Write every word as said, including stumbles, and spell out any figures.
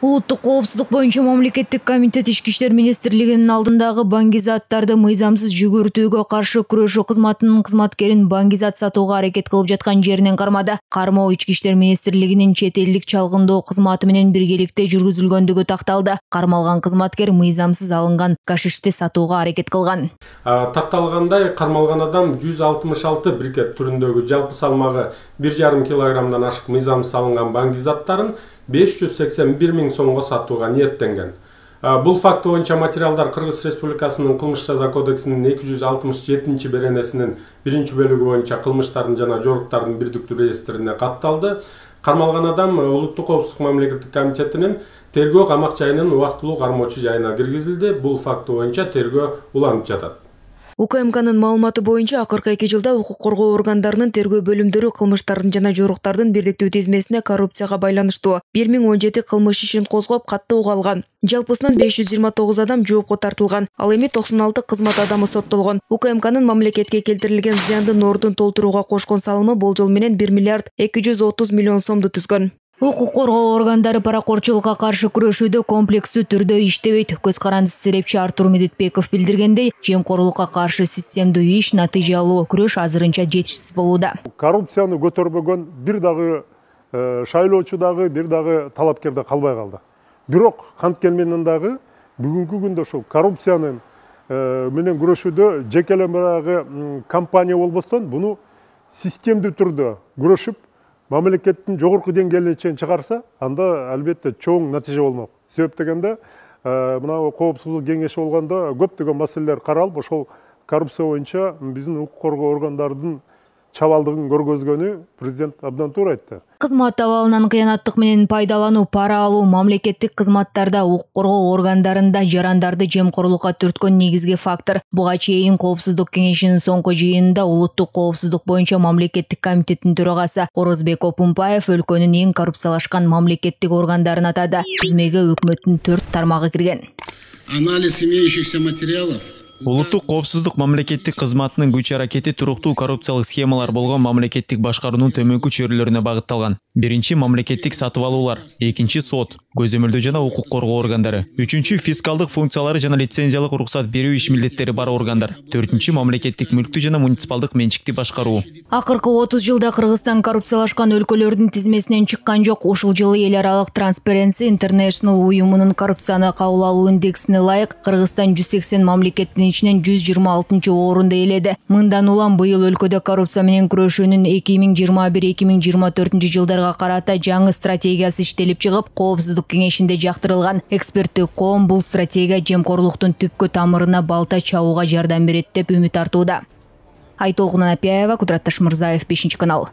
Улуттук коопсуздук боюнча мамлекеттик комитет Ички иштер министрлигинин алдындагы баңгизаттарды мыйзамсыз жүгүртүүгө каршы күрөшүү кызматынын кызматкерин баңгизат сатууга аракет кылып жаткан жеринен кармады. Кармоо Ички иштер министрлигинин чет элдик чалгындоо кызматы менен биргеликте жүргүзүлгөндүгү такталды. Кармалган кызматкер мыйзамсыз алынган гашишти сатууга аракет кылган. Такталгандай, кармалган адам жүз алтымыш алты брикет түрүндөгү жалпы салмагы бир жарым килограммдан ашык мыйзамсыз алынган баңгизаттарын беш жүз сексен бир миң сомго сатууга ниеттенген. Бул факт боюнча материалдар Кыргыз Республикасынын кылмыш жаза кодексинин эки жүз алтымыш жетинчи беренесинин биринчи бөлүгү боюнча кылмыштардын жана жоруктардын бирдиктүү реестрине катталды. Кармалган адам Улуттук коопсуздук мамлекеттик комитетинин тергөө камак жайынын убактылуу кармоочу жайына киргизилди. Бул факт боюнча тергөө уланып жатат. У К М К'нын маалыматы боюнча акыркы эки жылда укук коргоо органдарынын тергөө бөлүмдөрү кылмыштардын жана жоруктардын бирдиктүү тизмесине коррупцияга байланыштуу бир миң он жети кылмыш ишин козгоп каттоого алган. Жалпысынан беш жүз жыйырма тогуз адам жоопко тартылган. Ал эми токсон алты кызмат адамы соттолгон. У К М К'нын мамлекетке келтирилген зыяндын ордун толтурууга кошкон салымы болжол менен бир миллиард эки жүз отуз миллион сомду түзгөн. Укук коргоо органдары паракорчулукка каршы күрөшүүдө комплекстүү түрдө иштебейт. Көз карандысы серепчи Артур Медетбеков билдиргендей, жемкорлукка каршы системдүү иш, натыйжалуу күрөш азырынча жетишсиз болууда. Коррупцияны көтөрбөгөн бир дагы шайлоочу дагы, бир дагы талапкер да калбай калды. Бирок канткен менен дагы бүгүнкү күндө ушул коррупциянын менен күрөшүүдө жекелем дагы компания болбостон буну системдүү түрдө күрөшүп мамлекеттин жогорку деңгээлине чейин чыгарса, анда албетте чоң натыйжа болмок. Себеп дегенде, мына коопсуздук кеңеши болгондо көптөгөн маселелер каралып, ошол коррупция боюнча биздин укук коргоо органдарынын чабалдыгын көргөзгөнү президент абдан туура айтты. Кызмат абалынан кыянаттык менен пайдалануу, пара алуу мамлекеттик кызматтарда, укук коргоо органдарында жарандарды жемкорлукка түрткөн негизги фактор. Буга чейин Коопсуздук кеңешинин соңку жыйынында Улуттук коопсуздук боюнча мамлекеттик комитеттин төрагасы Орозбек Опунпаев өлкөнүн эң коррупциялашкан мамлекеттик органдарын атады. Тизмеге өкмөттүн төрт тармагы кирген. Анализ имеющихся материалов. Улуттук коопсуздук мамлекеттик кызматынын күч аракети туруктуу коррупциялык схемалар болгон мамлекеттик башкаруунун төмөнкү чөйрөлөрүнө багытталган. Биринчи мамлекеттик сатып алуулар, экинчи сот, көзөмөлдөө жана укук коргоо органдары, үчүнчү фискалдык функциялары жана лицензиялык уруксат берүү иш милдеттери бар органдар, төртүнчү мамлекеттик мүлктү жана муниципалдык менчикти башкаруу. Акыркы отуз жылда Кыргызстан коррупциялашкан өлкөлөрдүн тизмесинен чыккан жок. Ушул жылы эл аралык Transparency International уюмунун коррупцияны кабыл алуу индексине ылайык Кыргызстан жүз сексен мамлекеттин ичинен жүз жыйырма алтынчы орунду ээледи. Мындан улам быйыл өлкөдө коррупция менен күрөшүүнүн эки миң жыйырма бир эки миң жыйырма төртүнчү жылдарга карата жаңы стратегиясы иштелип чыгып, Коопсуздук кеңешинде жактырылган. Эксперттик коом бул стратегия жемкорлуктун түпкү тамырына балта чабууга жардам берет деп үмүт артууда. Айтолкун Анапияева, Кудурат Ташмырзаев, бешинчи канал.